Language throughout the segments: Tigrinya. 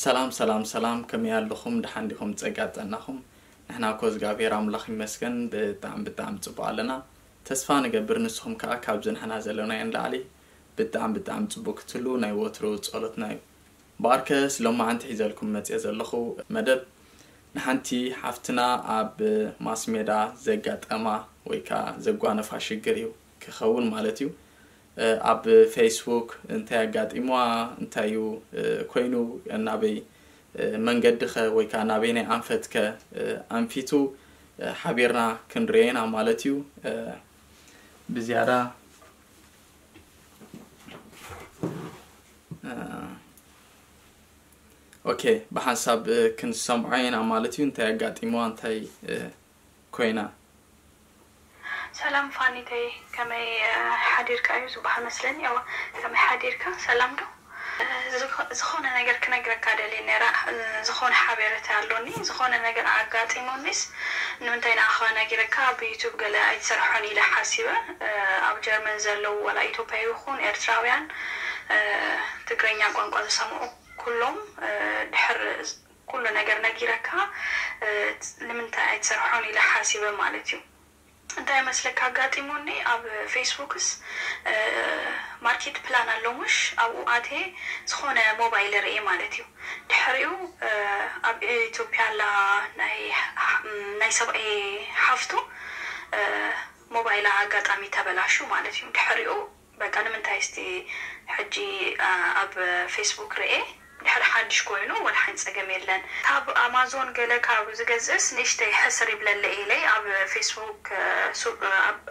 ሰላም ሰላም ሰላም፣ ከመይ ኣለኹም? ደሓን ዲኹም? ጸጋ ጥዕናኹም? ንሕና እኮ እግዚኣብሔር ኣምላኽ ይመስገን ብጣዕሚ ብጣዕሚ ጽቡቕ ኣለና። ተስፋ ንገብር ንስኹም ከኣ ካብዚ ንሕና ዘለናዮ ንላዕሊ ብጣዕሚ ብጣዕሚ ጽቡቕ ክትህሉ ናይ ወትሩ ጸሎትና እዩ። ብኣርከስ ሎማዓንቲ ሒዘልኩም መጽየ ዘለኹ መደብ ንሓንቲ ሓፍትና ኣብ ማስ ሜዳ ዘጋጠማ ወይ ከኣ ዘጓነፋ ሽግር እዩ ክኸውን ማለት እዩ። ኣብ ፌስቡክ እንታይ ኣጋጢምዋ፣ እንታይ እዩ ኮይኑ፣ ናበይ መንገዲ ከ ወይ ከዓ ናበይ ናይ ኣንፈት ከ ኣንፊቱ ሓቢርና ክንርኤና ማለት እዩ። ብዝያዳ ኦኬ፣ ብሓንሳብ ክንሰምዖ ኢና ማለት እዩ። እንታይ ኣጋጢምዋ፣ እንታይ ኮይና? ሰላም ፋኒተይ፣ ከመይ ሓዲርካ እዩ ዝበሃል መስለኒ። እወ፣ ከመይ ሓዲርካ? ሰላም ዶ? ዝኾነ ነገር ክነግረካ ደልየ ነይረ። ዝኾነ ሓቤረታ ኣሎኒ። ዝኾነ ነገር ኣጋጢሙኒስ ንምንታይ ንኣኻ ነጊረካ ኣብ ዩቱብ ገለ ኣይትሰርሖን ኢለ ሓሲበ። ኣብ ጀርመን ዘለዉ ዋላ ኢትዮጵያ ይኹን ኤርትራውያን ትግረኛ ቋንቋ ዝሰምዑ ኩሎም ድሕር ኩሉ ነገር ነጊረካ ንምንታይ ኣይትሰርሖን ኢለ ሓሲበ ማለት እዩ። እንታይ መስለካ ኣጋጢሙኒ፣ ኣብ ፌስቡክስ ማርኬት ፕላን ኣሎ ሙሽ፣ ኣብኡ ኣትየ ዝኾነ ሞባይል ርእየ ማለት እዩ። ድሕሪኡ ኣብ ኢትዮጵያ ኣላ ናይ ሰብኣየ ሓፍቱ ሞባይላ ኣጋጣሚ ተበላሹ ማለት እዩ። ድሕሪኡ በቃ ንምንታይ እስቲ ሕጂ ኣብ ፌስቡክ ርኤ ድሕሪ ሓድሽ ኮይኑ ወላ ሓንቲ ጸገም የለን። ካብ ኣማዞን ገለ ካብ ዝገዝእስ ንእሽተይ ሕስር ይብለለ ኢለይ ኣብ ፌስቡክ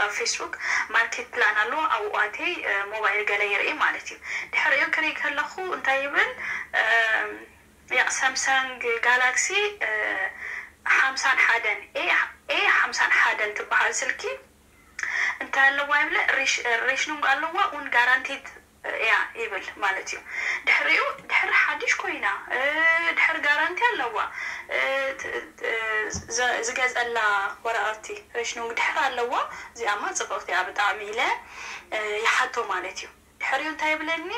ኣብ ፌስቡክ ማርኬት ፕላን ኣሎ ኣብኡ ኣትየ ሞባይል ገለ ይርኢ ማለት እዩ። ድሕሪኡ ክርኢ ከለኹ እንታይ ይብል ያቕ ሳምሰንግ ጋላክሲ ሓምሳን ሓደን ኤ ሓምሳን ሓደን ትበሃል ስልኪ እንታይ ኣለዋ ይብለ ሬሽኑንግ ኣለዋ ውን ጋራንቲድ እያ ይብል ማለት እዩ። ድሕሪኡ ድሕሪ ሓድሽ ኮይና ድሕሪ ጋራንቲ ኣለዋ ዝገዘላ ወረቐቲ ሬሽኑንግ ድሕሪ ኣለዋ እዚኣማ ፅብቕቲ እያ ብጣዕሚ ኢለ ይሓቶ ማለት እዩ። ድሕሪኡ እንታይ ይብለኒ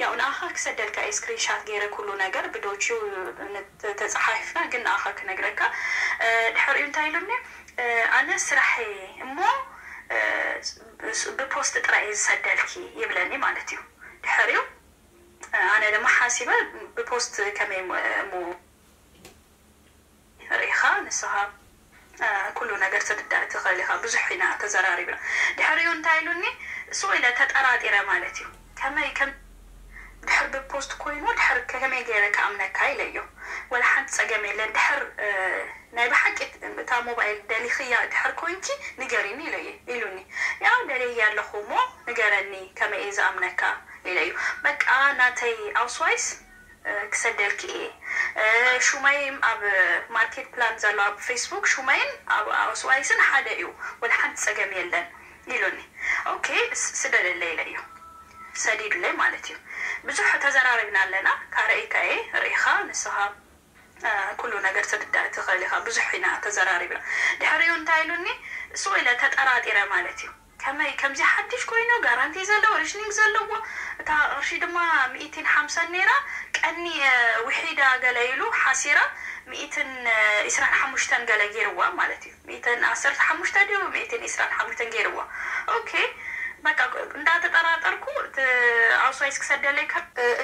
ያው ንኣኻ ክሰደልካ እየ ስክሪንሻት ገይረ ኩሉ ነገር ብዶችዩ ተፀሓሒፍና ግን ንኣኻ ክነግረካ ድሕሪኡ እንታይ ኢሉኒ ኣነ ስራሕ እሞ ብፖስት ጥራይ እየ ዝሰደልኪ ይብለኒ ማለት እዩ። ድሕሪኡ ኣነ ድማ ሓሲበ ብፖስት ከመይ እሞ ርኢኻ ንስኻ ኩሉ ነገር ትርዳእ ትኽእል ኢኻ ብዙሕ ኢና ተዘራሪብና ድሕሪኡ እንታይ ኢሉኒ ሱቕ ኢለ ተጠራጢረ ማለት እዩ ከመይ ከም ድሕር ብፖስት ኮይኑ ድሕር ከመይ ገይረ ክኣምነካ ኢለዮ ወላ ሓንቲ ፀገም የለን ድሕር ናይ ብሓቂ እታ ሞባይል ደሊኽያ ድሕር ኮይንኪ ንገሪኒ ኢለየ ኢሉኒ ያው ደልየ ኣለኹ እሞ ንገረኒ ከመይ እየ ዝኣምነካ ኢለዩ በቃ ናተይ ኣውስዋይስ ክሰደልኪ እየ ሹመይም ኣብ ማርኬት ፕላን ዘሎ ኣብ ፌስቡክ ሹመይን ኣብ ኣውስዋይስን ሓደ እዩ ወላ ሓንቲ ፀገም የለን ኢሉኒ ኦኬ ስደደለይ ኢለዮ ሰዲዱለይ ማለት እዩ ብዙሕ ተዘራሪብና ኣለና ካረእይካ እየ ርኢኻ ንስኻ ኩሉ ነገር ትርዳእ ትኽእል ኢኻ ብዙሕ ኢና ተዘራሪብና ድሕሪኡ እንታይ ኢሉኒ ሱቕ ኢለ ተጠራጢረ ማለት እዩ ከመይ ከምዚ ሓድሽ ኮይኑ ጋራንቲ ዘለዎ ሪሽኒንግ ዘለዎ እታ ቅርሺ ድማ ሚእትን ሓምሳን ነይራ ቀኒ ውሒዳ ገለ ኢሉ ሓሲራ ሚእትን ኢስራን ሓሙሽተን ገለ ገይርዋ ማለት እዩ ሚእትን ዓሰርተ ሓሙሽተ ድዩ ሚእትን ኢስራን ሓሙሽተን ገይርዋ ኦኬ በቃ እንዳተጠራጠርኩ ኣውስዋይስ ክሰደለይ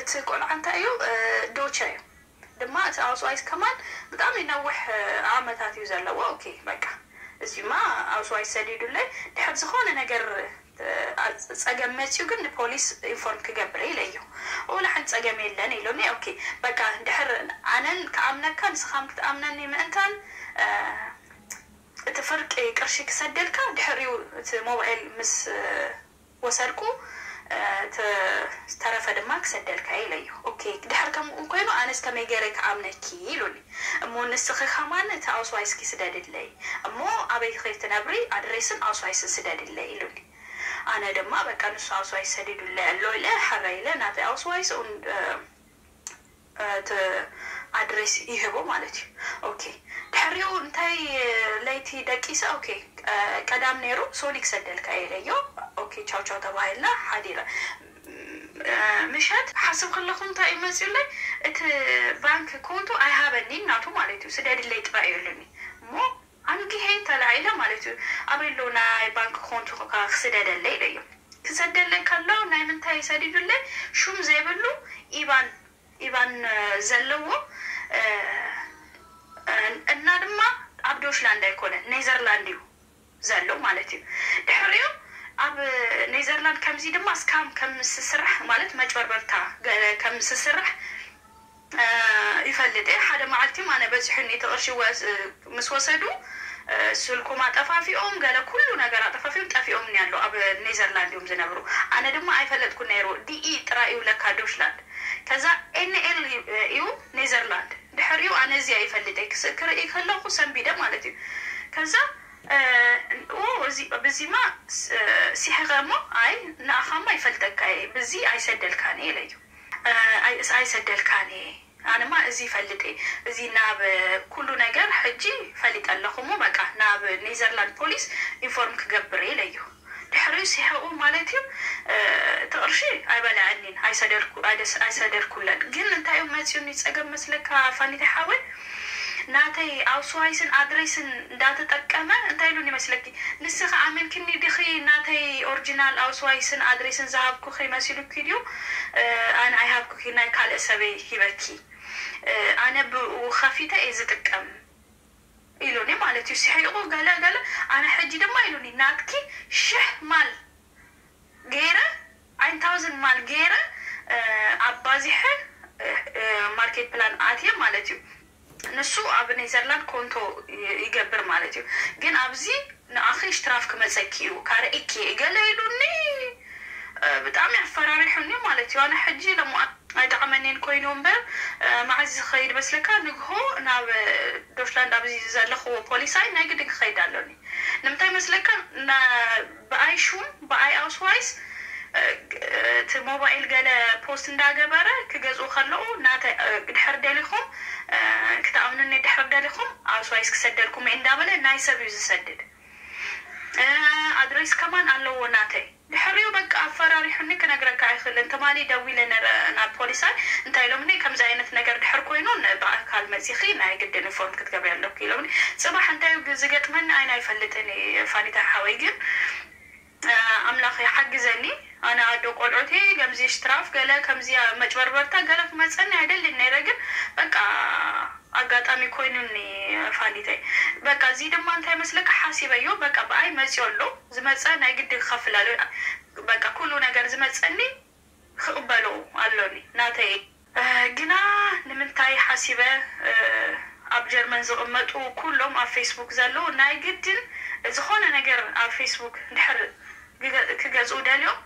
እቲ ቆልዓ እንታይ እዩ ዶቸ እዩ ድማ እቲ ኣውስዋይስ ከማን ብጣዕሚ ነዊሕ ዓመታት እዩ ዘለዎ ኦኬ በቃ እዚማ ኣውስዋይስ ሰዲዱለይ ድሕር ዝኾነ ነገር ፀገም መፅዩ ግን ንፖሊስ ኢንፎርም ክገብር ኢለዮ ወላ ሓንቲ ፀገም የለን ኢሉኒ ኦኬ በቃ ድሕር ኣነን ክኣምነካ ንስኻም ክትኣምነኒ ምእንታን እቲ ፍርቂ ቅርሺ ክሰደልካ ድሕሪኡ እቲ ሞባይል ምስ ወሰድኩ ዝተረፈ ድማ ክሰደልካ ኢለዮ ኦኬ ድሕር ከምኡ ኮይኑ ኣነስ ከመይ ገይረ ክኣምነኪ ኢሉኒ እሞ ንስኺ ከማን እቲ ኣውስዋይስኪ ስደድለይ እሞ ኣበይ ኸይድ ትነብሪ ኣድሬስን ኣውስዋይስን ስደድለይ ኢሉኒ ኣነ ድማ በቃ ንሱ ኣውስዋይስ ሰዲዱለይ ኣሎ ኢለ ሕረ ኢለ ናተይ ኣውስዋይስ እቲ ኣድሬስ ይህቦ ማለት እዩ ኦኬ ድሕሪኡ እንታይ ለይቲ ደቂሰ ኦኬ ቀዳም ነይሩ ሶኒ ክሰደልካ ኢለዮ ኦኬ ቻው ቻው ተባሂልና ሓዲረ ምሸት ሓስብ ከለኹ እንታይ እዩ መፅዩለይ እቲ ባንክ ኮንቱ ኣይሃበኒ እናቱ ማለት እዩ። ስደድለይ ጥራይ እዩ ኢሉኒ። እሞ ኣንጊሄ ተላዒለ ማለት እዩ። ኣበይ ኣሎ ናይ ባንክ ኮንቱ ክስደደለይ ኢለዮ። ክሰደለይ ከሎ ናይ ምንታይ ሰዲዱለይ? ሹም ዘይብሉ ኢባን ኢባን ዘለዎ እና ድማ ኣብ ዶሽላንድ ኣይኮነ፣ ኔዘርላንድ እዩ ዘሎ ማለት እዩ። ድሕሪኡ ኣብ ኔዘርላንድ ከምዚ ድማ ስካም ከም ስስራሕ ማለት መጭበርበርታ ከም ስስራሕ ይፈልጥ እየ። ሓደ መዓልቲ ኣነ በፂሑኒ እቲ ቅርሺ ምስ ወሰዱ ስልኩም ኣጠፋፊኦም ገለ ኩሉ ነገር ኣጠፋፊኦም ጠፊኦም ኣሎ። ኣብ ኔዘርላንድ እዮም ዝነብሩ። ኣነ ድማ ኣይፈለጥኩ ነይሩ። ዲኢ ጥራይ እዩ ለካ ዶሽላንድ። ከዛ ኤንኤል እዩ ኔዘርላንድ። ድሕሪኡ ኣነ እዚኣ ይፈልጥ እየ ክርኢ ከለኹ ሰንቢደ ማለት እዩ። ከዛ ብዚማ ሲሕኸ እሞ ኣይ ንኣኻማ ይፈልጠካ እየ ብዚ ኣይሰደልካን እየ ኢለዩ። ኣይሰደልካን እየ ኣነማ እዚ ይፈልጥ እየ። እዚ ናብ ኩሉ ነገር ሕጂ ፈሊጠ ኣለኹ እሞ በቃ ናብ ኔዘርላንድ ፖሊስ ኢንፎርም ክገብር እየ ኢለዩ። ድሕሪኡ ሲሕቑ ማለት እዩ። እቲ ቅርሺ ኣይበልዐኒን ኣይሰደድኩለን። ግን እንታይ እዮም መፂኡኒ ፀገም መስለካ ፋኒተ ሓወይ? ናተይ ኣውስዋይስን ኣድሬስን እንዳተጠቀመ እንታይ ኢሉን ይመስለኪ? ንስኺ ኣመንክኒ ዲኺ ናተይ ኦሪጂናል ኣውስዋይስን ኣድሬስን ዝሃብኩኺ መሲሉኪ ድዩ? ኣነ ኣይሃብኩኺ ናይ ካልእ ሰበይ ሂበኪ። ኣነ ብኡ ከፊተ እየ ዝጥቀም ኢሉኒ ማለት እዩ። ስሒቑ ገለ ገለ ኣነ ሕጂ ድማ ኢሉኒ ናትኪ ሽሕ ማል ገይረ ኣይን ታውዝን ማል ገይረ ኣባዚሐ ማርኬት ፕላን ኣትየ ማለት እዩ። ንሱ ኣብ ኔዘርላንድ ኮንቶ ይገብር ማለት እዩ። ግን ኣብዚ ንኣኺ ሽትራፍ ክመፀኪ እዩ ካርኢኪ ገለ ኢሉኒ። ብጣዕሚ ኣፈራሪሑኒ ማለት እዩ። ኣነ ሕጂ ለሞ ኣይጠቕመኒን ኮይኑ እምበር መዓዝ ዝኸይድ መስለካ? ንግሆ ናብ ዶሽላንድ ኣብዚ ዘለኽዎ ፖሊሳይ ናይ ግድን ክኸይድ ኣሎኒ። ንምንታይ መስለካ? ብኣይ ሹም ብኣይ ኣውስዋይስ እቲ ሞባይል ገለ ፖስት እንዳገበረ ክገዝኡ ከለኡ ናተ ድሕር ደሊኹም ክትኣምኑኒ ድሕር ደሊኹም ኣውስዋይስ ክሰደልኩም እንዳበለ ናይ ሰብ እዩ ዝሰድድ። ኣድሬስ ከማን ኣለዎ ናተይ። ድሕሪኡ በቃ ኣፈራሪሑኒ ክነግረካ ኣይኽእልን። ትማሊ ደዊለ ነረ ናብ ፖሊሳይ እንታይ ኢሎምኒ ከምዚ ዓይነት ነገር ድሕር ኮይኑ ብኣካል መፂኺ ናይ ግድን ኢንፎርም ክትገብሪ ኣለኩ ኢሎምኒ። ፅባሕ እንታይ ዝገጥመኒ ኣይና ይፈልጥን ፋኒታ ሓወይ ግን ኣምላኽ ይሓግዘኒ። ኣነ ኣዶ ቆልዑቲ ከምዚ ሽትራፍ ገለ ከምዚ መጭበርበርታ ገለ ክመፀኒ ኣይደልን ነይረ ግን በቃ ኣጋጣሚ ኮይኑኒ ፋኒተይ። በቃ እዚ ድማ እንታይ መስለካ ሓሲበዮ በቃ ብኣይ መፅዮ ኣሎ ዝመፀ ናይ ግዲ ክኸፍል ኣሎ። በቃ ኩሉ ነገር ዝመፀኒ ክቕበሎ ኣሎኒ ናተይ። ግና ንምንታይ ሓሲበ ኣብ ጀርመን ዝቕመጡ ኩሎም ኣብ ፌስቡክ ዘለዉ ናይ ግድን ዝኾነ ነገር ኣብ ፌስቡክ ድሕር ክገዝኡ ደልዮም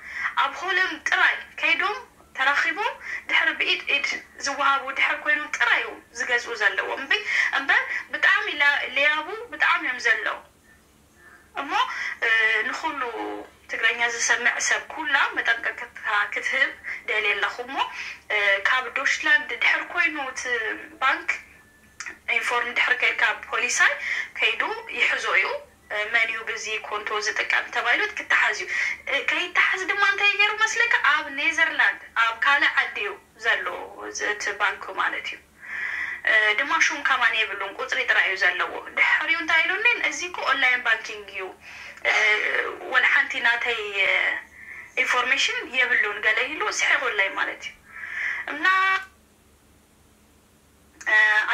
ኣብ ሆለንድ ጥራይ ከይዶም ተራኺቦም ድሕሪ ብኢድ ኢድ ዝወሃቡ ድሕር ኮይኖም ጥራይ እዮም ዝገዝኡ ዘለዎም እምበር ብጣዕሚ ለያቡ ብጣዕሚ እዮም ዘለዉ። እሞ ንኩሉ ትግረኛ ዝሰምዕ ሰብ ኩላ መጠንቀቅታ ክትህብ ደልየ ኣለኹ እሞ ካብ ዶሽላንድ ድሕር ኮይኑ እቲ ባንክ ኢንፎርም ድሕር ከይድካ ፖሊሳይ ከይዱ ይሕዞ እዩ። መን እዩ ብዚ ኮንቶ ዝጥቀም ተባይሉ ክትሓዝ እዩ። ከይተሓዝ ድማ እንታይ ገይሩ መስለካ ኣብ ኔዘርላንድ ኣብ ካልእ ዓዲ እዩ ዘሎ እቲ ባንክ ማለት እዩ። ድማ ሹም ከማን የብሉን ቁፅሪ ጥራይ እዩ ዘለዎ። ድሕሪኡ እንታይ ኢሉኒ እዚ እኮ ኦንላይን ባንኪንግ እዩ ወላ ሓንቲ ናተይ ኢንፎርሜሽን የብሉን ገለ ኢሉ ስሒቁለይ ማለት እዩ እና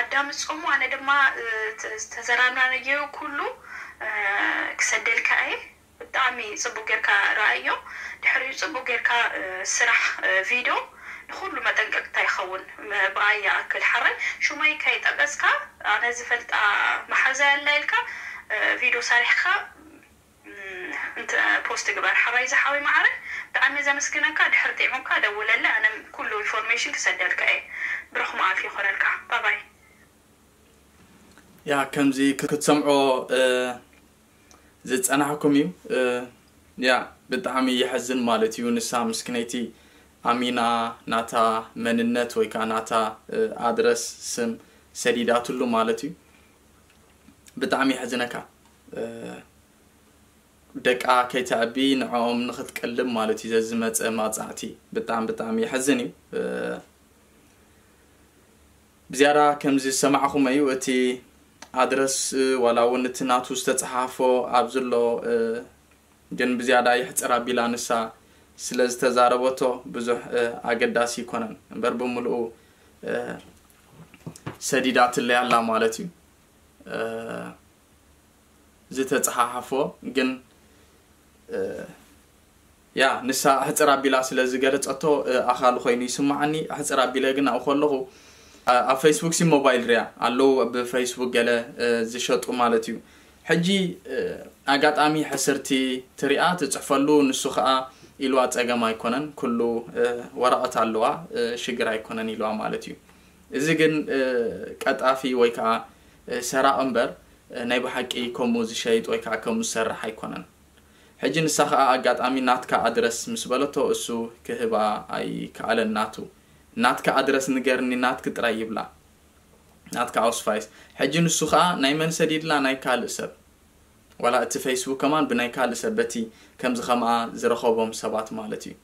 ኣዳምፆሙ ኣነ ድማ ዝተዘራናነየው ኩሉ ክሰደልካ እየ። ብጣዕሚ ፅቡቅ ጌርካ ረኣዮ። ድሕሪኡ ፅቡቅ ጌርካ ስራሕ ቪድዮ ንኩሉ መጠንቀቅታ ይኸውን። ብኣይ ይኣክል ሓራይ ሹመይ ከይጠቀስካ ኣነ ዝፈልጣ መሓዛ ያላ ኢልካ ቪድዮ ሰሪሕካ ፖስት ግበር ሓራይ ዝሓወይ መዓረ። ብጣዕሚ ዘመስግነካ ድሕር ጢዕሙካ ደውለለ ኣነ ኩሉ ኢንፎርሜሽን ክሰደልካ እየ። ብሩኽ መዓልቲ ይኾነልካ። ባባይ። ያ ከምዚ ክትሰምዖ ዝፀናሕኩም እዩ። ያ ብጣዕሚ የሕዝን ማለት እዩ። ንሳ ምስክነይቲ ኣሚና ናታ መንነት ወይ ከዓ ናታ ኣድረስ ስም ሰዲዳትሉ ማለት እዩ። ብጣዕሚ የሕዝነካ። ደቃ ከይተዕቢ ንዕኦም ንክትቀልብ ማለት እዩ ዘዝመፀ ማፃዕቲ ብጣዕሚ ብጣዕሚ የሕዝን እዩ። ዝያዳ ከምዚ ዝሰማዕኹም እዩ። እቲ ኣድረስ ዋላ እውን እቲ ናቱ ዝተፀሓፎ ኣብ ዘሎ ግን ብዝያዳ ይሕፅር ኣቢላ ንሳ ስለ ዝተዛረበቶ ብዙሕ ኣገዳሲ ይኮነን እምበር ብምልኡ ሰዲዳትለይ ኣላ ማለት እዩ። ዝተፀሓሓፎ ግን ያ ንሳ ኣሕፅር ኣቢላ ስለ ዝገለፀቶ ኣኻሉ ኮይኑ ይስማዓኒ። ኣሕፅር ኣቢለ ግን ኣብኡ ከለኹ ኣብ ፌስቡክ ሲ ሞባይል ሪያ ኣለዉ ብፌስቡክ ገለ ዝሸጡ ማለት እዩ። ሕጂ ኣጋጣሚ ሕስርቲ ትሪኣ ትፅሕፈሉ ንሱ ከዓ ኢልዋ ፀገም ኣይኮነን ኩሉ ወረቐት ኣለዋ ሽግር ኣይኮነን ኢልዋ ማለት እዩ። እዚ ግን ቀጣፊ ወይ ከዓ ሰራቕ እምበር ናይ ብሓቂ ከምኡ ዝሸይጥ ወይ ከዓ ከምኡ ዝሰርሕ ኣይኮነን። ሕጂ ንሳ ከዓ ኣጋጣሚ ናትካ ኣድረስ ምስ በለቶ እሱ ክህባ ኣይከኣለን ናቱ። ናትካ ኣድረስ ንገርኒ ናትክ ጥራይ ይብላ። ናትካ ኣውስፋይስ። ሕጂ ንሱ ከዓ ናይ መን ሰዲድላ ናይ ካልእ ሰብ። ዋላ እቲ ፌስቡክ ከማን ብናይ ካልእ ሰብ በቲ ከምዚ ከምኣ ዝረኸቦም ሰባት ማለት እዩ።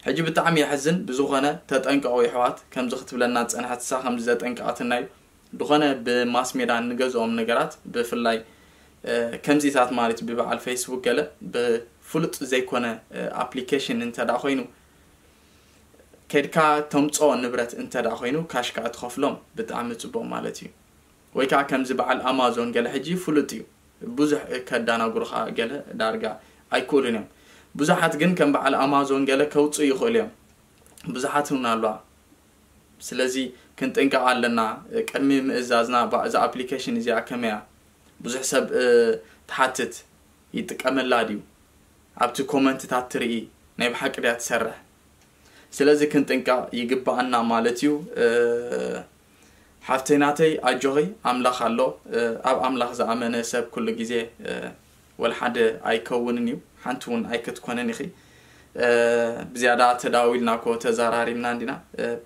ሕጂ ብጣዕሚ የሕዝን ብዝኾነ ተጠንቀቑ ይሕዋት ከምዚ ክትብለና ዝፀንሐት እሳ ከምዚ ዘጠንቀቐትና እዩ። ዝኾነ ብማስ ሜዳ እንገዝኦም ነገራት ብፍላይ ከምዚታት ማለት ብበዓል ፌስቡክ ገለ ብፍሉጥ ዘይኮነ ኣፕሊኬሽን እንተ ደኣ ኮይኑ ከድካ ተምፅኦ ንብረት እንተ ደኣ ኮይኑ ካሽ ከዓ ትኸፍሎም ብጣዕሚ ፅቡቕ ማለት እዩ። ወይ ከዓ ከምዚ በዓል ኣማዞን ገለ ሕጂ ፍሉጥ እዩ ብዙሕ ከዳናጉርኻ ገለ ዳርጋ ኣይክእሉን እዮም። ብዙሓት ግን ከም በዓል ኣማዞን ገለ ከውፅኡ ይኽእሉ እዮም። ብዙሓት እውን ኣለዋ። ስለዚ ክንጥንቀቕ ኣለና ቅድሚ ምእዛዝና እዛ ኣፕሊኬሽን እዚኣ ከመያ ብዙሕ ሰብ ትሓትት ይጥቀመላ ድዩ ኣብቲ ኮመንትታት ትርኢ ናይ ብሓቂ ድያ ትሰርሕ? ስለዚ ክንጥንቀቕ ይግባኣና ማለት እዩ። ሓፍተይ ናተይ ኣጆኺ ኣምላኽ ኣሎ። ኣብ ኣምላኽ ዝኣመነ ሰብ ኩሉ ግዜ ወላ ሓደ ኣይከውንን እዩ። ሓንቲ እውን ኣይክትኮንን ኢኺ። ብዝያዳ ተዳዊልና ኮ ተዘራሪብና እንዲና።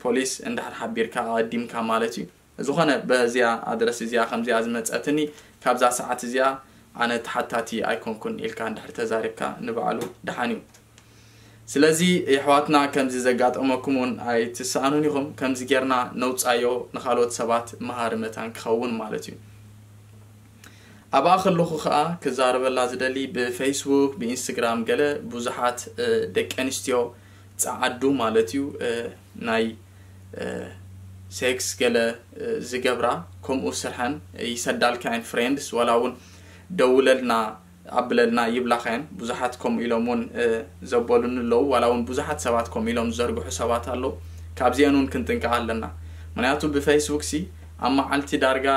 ፖሊስ እንድሕር ሓቢርካ ኣቐዲምካ ማለት እዩ። ዝኾነ በዚኣ ኣድረስ እዚኣ ከምዚኣ ዝመፀትኒ ካብዛ ሰዓት እዚኣ ኣነ ተሓታቲ ኣይኮንኩን ኢልካ እንድሕር ተዛሪብካ ንባዕሉ ደሓን እዩ። ስለዚ የሕዋትና ከምዚ ዘጋጠመኩም እውን ኣይትሰኣኑን ኢኹም። ከምዚ ጌርና ነውፃዮ ንኻልኦት ሰባት መሃሪ መታን ክኸውን ማለት እዩ። ኣብኣ ከለኹ ከዓ ክዛረበላ ዝደሊ ብፌስቡክ ብኢንስትግራም ገለ ብዙሓት ደቂ ኣንስትዮ ፀዓዱ ማለት እዩ ናይ ሴክስ ገለ ዝገብራ ከምኡ ስርሐን ይሰዳልካ እየን ፍሬንድስ ዋላ እውን ደውለልና ኣብለልና ይብላኻ እየን። ብዙሓት ከምኡ ኢሎም እውን ዘበሉኒ ኣለዉ ዋላ እውን ብዙሓት ሰባት ከምኡ ኢሎም ዝዘርግሑ ሰባት ኣለዉ። ካብዚአን እውን ክንጥንቀቕ ኣለና። ምክንያቱ ብፌስቡክ ሲ ኣብ መዓልቲ ዳርጋ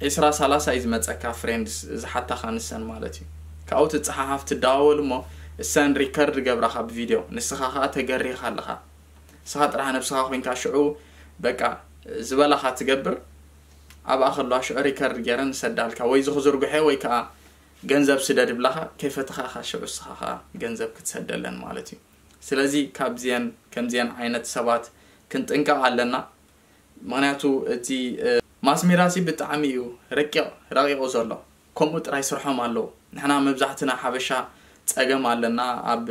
ዒስራ ሰላሳ እዩ ዝመፀካ ፍሬንድስ ዝሓታኻ ንሰን ማለት እዩ። ካብኡ ትፀሓሓፍ ትደዋወል እሞ እሰን ሪከርድ ገብራኻ ብቪድዮ ንስኻ ከዓ ተገሪኻ ኣለኻ። ንስኻ ጥራሕ ነብስኻ ኮይንካ ሽዑ በቃ ዝበላኻ ትገብር። ኣብኣ ከለዋ ሽዑ ሪከርድ ገይረን ዝሰዳልካ ወይ ዝኽዝርጉሐ ወይ ከዓ ገንዘብ ስደድ ብላኻ ከይፈተኻ ኢኻ ሽዑ ንስኻ ከዓ ገንዘብ ክትሰደለን ማለት እዩ። ስለዚ ካብዚአን ከምዚአን ዓይነት ሰባት ክንጥንቀቕ ኣለና። ምክንያቱ እቲ ማስሜዳ ሲ ብጣዕሚ እዩ ረቂቕ ረቂቑ ዘሎ። ከምኡ ጥራይ ስርሖም ኣለዉ። ንሕና መብዛሕትና ሓበሻ ፀገም ኣለና። ኣብ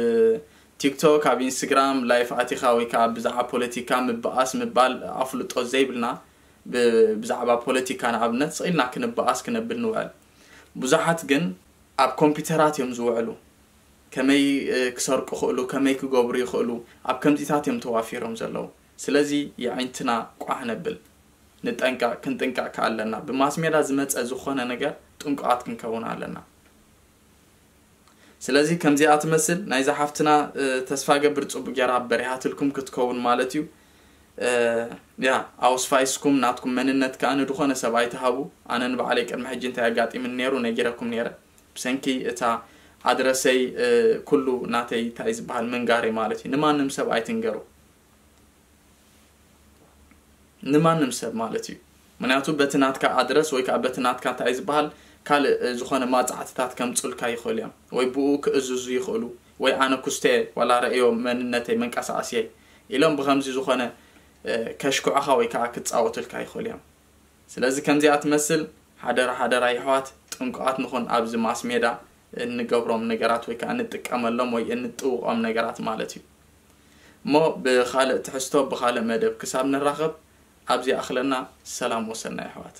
ቲክቶክ ኣብ ኢንስትግራም ላይፍ ኣቲኻ ወይ ከዓ ብዛዕባ ፖለቲካ ምብኣስ ምባል ኣፍልጦ ዘይብልና ብዛዕባ ፖለቲካ ንኣብነት ስቕ ኢልና ክንበኣስ ክነብል ንውዕል። ብዙሓት ግን ኣብ ኮምፒውተራት እዮም ዝውዕሉ። ከመይ ክሰርቁ ይኽእሉ፣ ከመይ ክገብሩ ይኽእሉ፣ ኣብ ከምዚታት እዮም ተዋፊሮም ዘለዉ። ስለዚ የዒንትና ቋሕ ነብል፣ ንጠንቀቕ፣ ክንጥንቀቕ ከ ኣለና። ብማስ ሜዳ ዝመፀ ዝኾነ ነገር ጥንቁቓት ክንከውን ኣለና። ስለዚ ከምዚኣ ትመስል ናይዛ ሓፍትና ተስፋ ገብር ፅቡቅ ጌራ በሪሃትልኩም ክትከውን ማለት እዩ። ያ ኣውስፋይስኩም ናትኩም መንነት ከዓ ንድኾነ ሰብ ኣይትሃቡ። ኣነ ንባዕለይ ቅድሚ ሕጂ እንታይ ኣጋጢምኒ ነይሩ ነጊረኩም ነይረ። ብሰንኪ እታ ኣድረሰይ ኩሉ ናተይ እንታይ ዝበሃል ምንጋረይ ማለት እዩ። ንማንም ሰብ ኣይትንገሩ። ንማንም ሰብ ማለት እዩ። ምክንያቱ በቲ ናትካ ኣድረስ ወይ ከዓ በቲ ናትካ እንታይ ዝበሃል ካልእ ዝኾነ ማፃዕትታት ከምፁልካ ይኽእሉ እዮም ወይ ብኡ ክእዝዙ ይኽእሉ ወይ ኣነ ኩስተ ዋላ ረእዮ መንነተይ መንቀሳቐስየይ ኢሎም ብከምዚ ዝኾነ ከሽክዑኻ ወይ ከዓ ክፃወቱልካ ይኽእሉ እዮም። ስለዚ ከምዚኣ ትመስል ሓደራ ሓደራ ይሕዋት ጥንቁቓት ንኹን ኣብዚ ማስ ሜዳ እንገብሮም ነገራት ወይ ከዓ እንጥቀመሎም ወይ እንጥውቖም ነገራት ማለት እዩ። እሞ ብኻልእ ትሕዝቶ ብኻልእ መደብ ክሳብ ንራኸብ ኣብዚ ኣኽለና። ሰላም ወሰናይ ኣሕዋት።